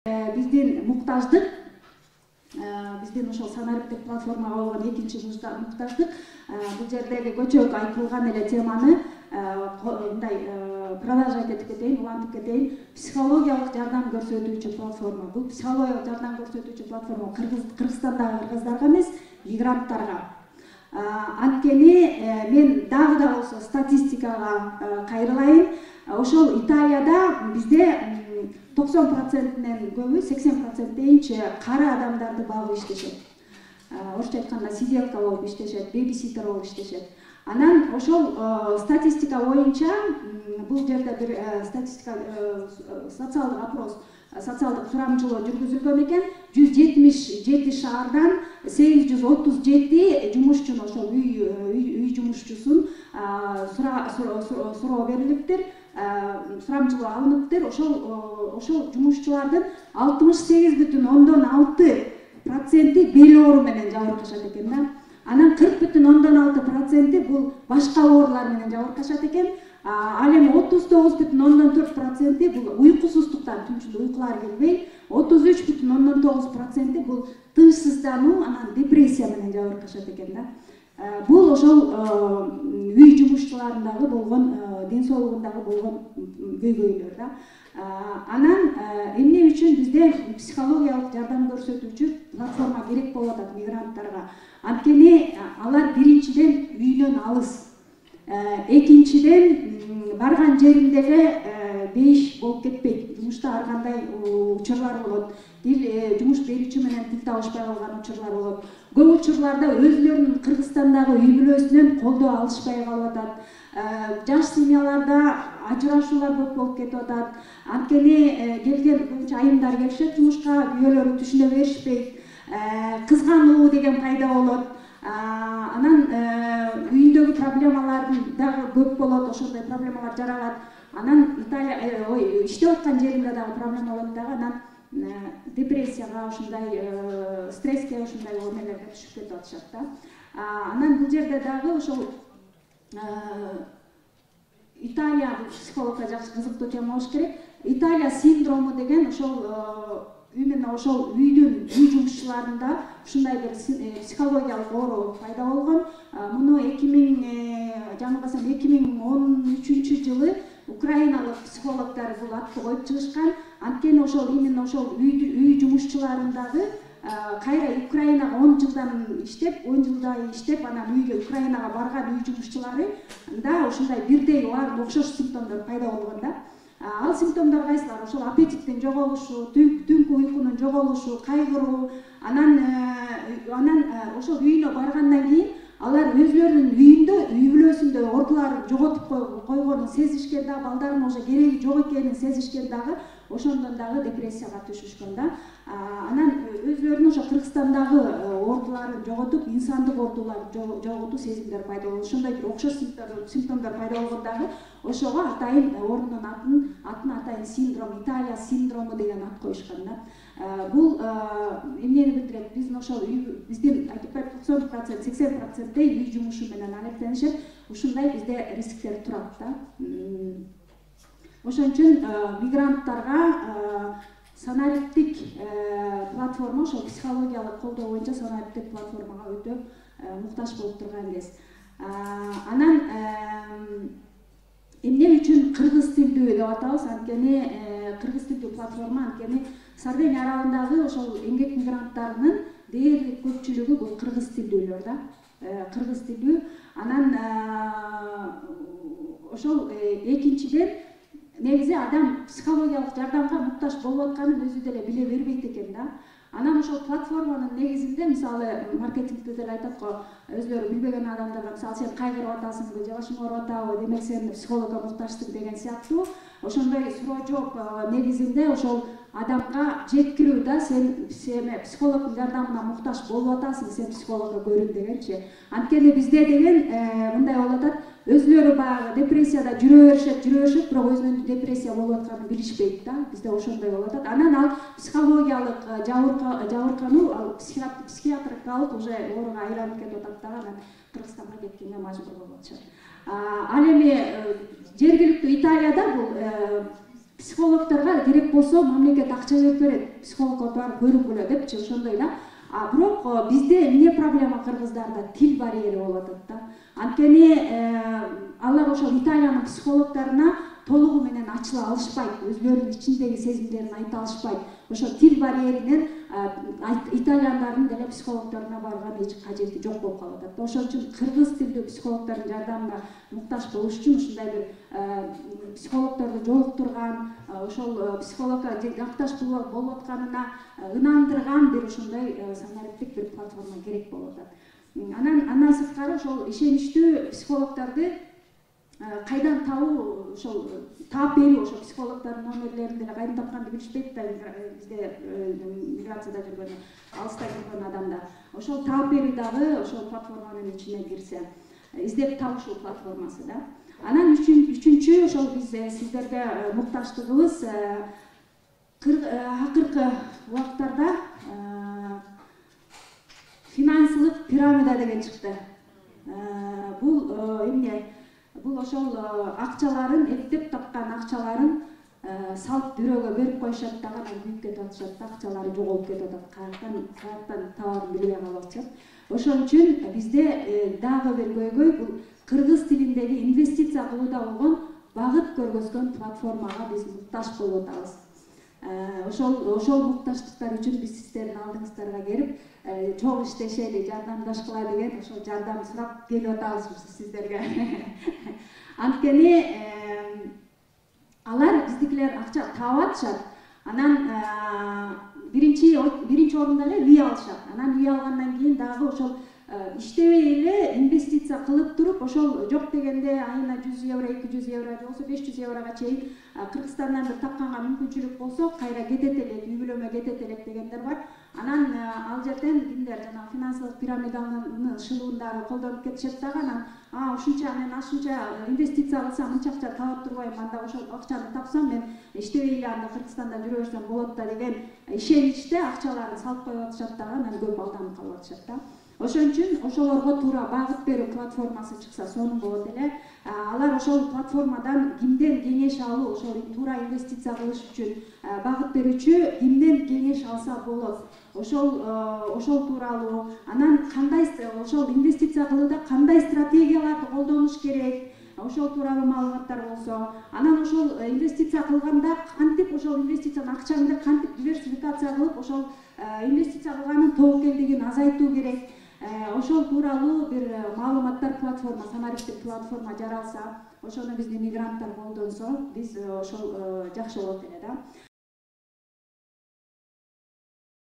биздин муктаждык, биздин ошол санариптик платформага болгон экинчи муктаждык бул жердеги көчөк айтылган эле теманы мындай продолжать этип кетейин, улантып кетейин. Психологиялык жардам көрсөтүүчү платформа. Бул психологиялык жардам көрсөтүүчү платформа Кыргызстандагы кыргыздарга эмес, мигранттарга. Анткени мен дагы да болсо статистикага кайрылайын. Ошол Италияда бизде 90%нен көбү, 80% дейинчи кара адамдарды багып иштешет. Орусча айтканда сиделка болуп иштешет, бебиситер болуп иштешет. Анан ошол статистика боюнча бул жерде бир статистика социалдык опрос, социалдык сурамчылоо жүргүзүлгөн экен. 177 шаардан 837 жумушчуну, ошол үй жумушчусун суроо берилиптир, сурамчылоо алыныптыр. Ошол жумушчулардын 68,6% бел оору менен жабыркашат экен да. Анан 40,6% бул башка оорулар менен жабыркашат экен. Ал эми 39,4% бул уйкусуздуктан, түнчүндө уйкулар келбей, 33,9% бул тынчсыздануу, анан депрессия менен жабыркашат экен да. Бул ошол үй жумушчуларындагы болгон, ден соолугундагы болгон көйгөйлөр да. Анан эмне үчүн бизде психологиялык жардам көрсөтүүчү платформа керек болуп атат мигранттарга? Анткени алар биринчиден үйүнөн алыс, экинчиден барган жериндеги бейиш болуп кетпейт. Жумушта ар кандай учурлар болот. Жумуш берүүчү менен тил табышпай калган учурлар болот. Көп учурларда өзлөрүнүн Кыргызстандагы үй бүлөсүнөн колдоо алышпай калып атат. Жаш семьяларда ажырашуулар көп болуп кетип атат. Анткени келген көбүнчө айымдар келишет жумушка, күйөөлөрү түшүнө беришпейт. Кызгануу деген пайда болот. Анан үйүндөгү проблемалардын дагы көп болот, ошондой проблемалар жаралат. Анан Италия иштеп аткан жеринде дагы проблема болот дагы. Анан депрессияга, ошондой стресске, ошондой эмелерге түшүп кетип атышат да. Анан бул жерде дагы ошол Италия психологко жакшы кызыктуу тема болуш керек. Италия синдрому деген ошол именно ошол үй жумушчуларында ушундай бир психологиялык оору пайда болгон. Муну 2013 жылы украиналык психологдор бул атты коюп чыгышкан. Анткени ошол именно ошол үй жумушчуларындагы кайра Украинага 10 жылдай иштеп, анан Украинага барган үй жумушчулары да ошондой бирдей окшош симптомдор пайда болгон да. Ал симптомдор кайсылар? Ошол аппетиттин жоголушу, түнкү уйкунун жоголушу, кайгыруу, анан ошол үйүнө баргандан кийин алар өзлөрүнүн үйүндө, үй бүлөсүндө ордулар жоготуп койгонун сезишкен да, балдардын уже кереги жок экенин сезишкен дагы, ошондон дагы депрессияга түшүшкөн да. Анан өзлөрүнүн ошо Кыргызстандагы ордуларын жоготуп, инсандык ордуларды жоготуу сезимдер пайда болду. Ошондой бир окшош симптомдор пайда болгондагы ошого атайын ордунун атын атайын синдром, Италия синдрому деген ат коюшкан да. Бул эмнени билдирет? Биздин ошол биздин айтып берип 90%, 80% үй жумушу менен алектенишет. Ушундай бизде рисктер турат да. Ошон үчүн мигранттарга санариптик платформа, ошол психологиялык колдоо боюнча санариптик платформага өтө муктаж болуп турган кез. Анан эмне үчүн кыргыз тилдүү деп атабыз? Анткени кыргыз тилдүү платформа, анткени Сардиния аралындагы ошол эмгек мигранттарынын дээрлик көпчүлүгү бул кыргыз тилдүүлөр да. Кыргыз тилдүү. Анан ошол экинчиден негизи адам психологиялык жардамга муктаж болуп атканын өзү деле биле бербейт экен да. Анан ошол платформанын негизинде, мисалы, маркетингде деле айтат го, өзлөрү билбеген адамдарга, мисалы, сен кайгырып атасыңбы, же башың ооруп атабы, демек сен психологко муктажсың деген сыяктуу ошондой суроо жооп негизинде ошол адамга жеткирүү да, сен психологдун жардамына муктаж болуп атасың, сен психологко көрүн дегенчи. Анткени бизде деген мындай болуп атат, өзлөрү баягы депрессияда жүрө беришет, бирок өзүнүн депрессия болуп атканын билишпейт да. Бизде ошондой болуп атат. Анан ал психологиялык жабыркануу, ал психиатрикалык уже ооруга айланып кетип атат да. Анан Кыргызстанга кеткенге мажбур болуп атышат. Ал эми жергиликтүү Италияда бул психологторго керек болсо мамлекет акча берип берет, психологко барып көрүнгүлө депчи, ошондой эле. Бирок бизде эмне проблема кыргыздарда? Тил барьери болуп атат да. Анткени алар ошол Италиянын психологторуна толугу менен ачыла алышпайт, өзүлөрүнүн ичиндеги сезимдерин айта алышпайт. Ошо тил барьеринен итальяндардын деле психологторуна барган эч кажети жок болуп калып атат. Ошон үчүн кыргыз тилдүү психологтордун жардамына муктаж болуш үчүн ушундай бир психологторду жолуктурган, ошол психологко жакташ болуп атканына ынандырган бир ушундай санариптик бир платформа керек болуп атат. Андан сырткары ошол ишеничтүү психологторду кайдан табуу, ошол таап берүү, ошол психологтордун номерлерин деле кайдан тапканды билишпейт да, бизде миграцияда жүргөн, алыста жүргөн адамдар. Ошол таап берүү дагы ошол платформанын ичине кирсе, издеп табышуу платформасы да. Анан үчүнчү ошол биз сиздерге муктаждыгыбыз акыркы убакыттарда финансылык пирамида деген чыкты. Бул эмне? Бул ошол акчаларын, эптеп тапкан акчаларын салып бирөөгө берип коюшат дагы, анан күйүп кетип атышат да, акчалары жоголуп кетип атат, каяктан табарын билбей калып атышат. Ошон үчүн бизде дагы бир көйгөй бул кыргыз тилиндеги инвестиция кылууда болгон багыт көргөзгөн платформага биз муктаж болуп атабыз. Ошол муктаждыктар үчүн биз сиздердин алдыңыздарга келип, чоң иштешели, жардамдашкыла деген ошол жардам сурап келип атабыз сиздерге. Анткени алар биздикилер акча таап атышат. Анан биринчи орунда эле үй алышат. Анан үй алгандан кийин дагы ошол иштебей эле инвестиция кылып туруп, ошол жок дегенде айына 100 евро, 200 евро, же болбосо 500 еврога чейин Кыргызстандан бир тапканга мүмкүнчүлүк болсо, кайра кетет элек, үй бүлөмө кетет элек дегендер бар. Анан ал жерден кимдер жана финансылык пирамиданын шылуундары колдонуп кетишет дагы. Анан ушунча мен ашынча инвестиция кылсам мынча акча таап турбайм, анда ошол акчаны тапсам мен иштебей эле анда Кыргызстанда жүрө берсем болот да деген ишеничте акчаларын салып коюп атышат дагы, анан көп алданып калып атышат да. Ошон үчүн ошолорго туура багыт берүү платформасы чыкса сонун болот эле. Алар ошол платформадан кимден кеңеш алуу, ошол туура инвестиция кылыш үчүн багыт берүүчү кимден кеңеш алса болот. Ошол тууралуу, анан кандай ошол инвестиция кылууда кандай стратегияларды колдонуш керек, ошол тууралуу маалыматтар болсо, анан ошол инвестиция кылганда кантип ошол инвестициянын акчаңды кантип диверсификация кылып, ошол инвестиция кылганын тобокелдигин азайтуу керек. Ошол тууралуу бир маалыматтар платформа, санариптик платформа жаралса, ошону биздин мигранттар колдонсо, биз ошол жакшы болот эле да.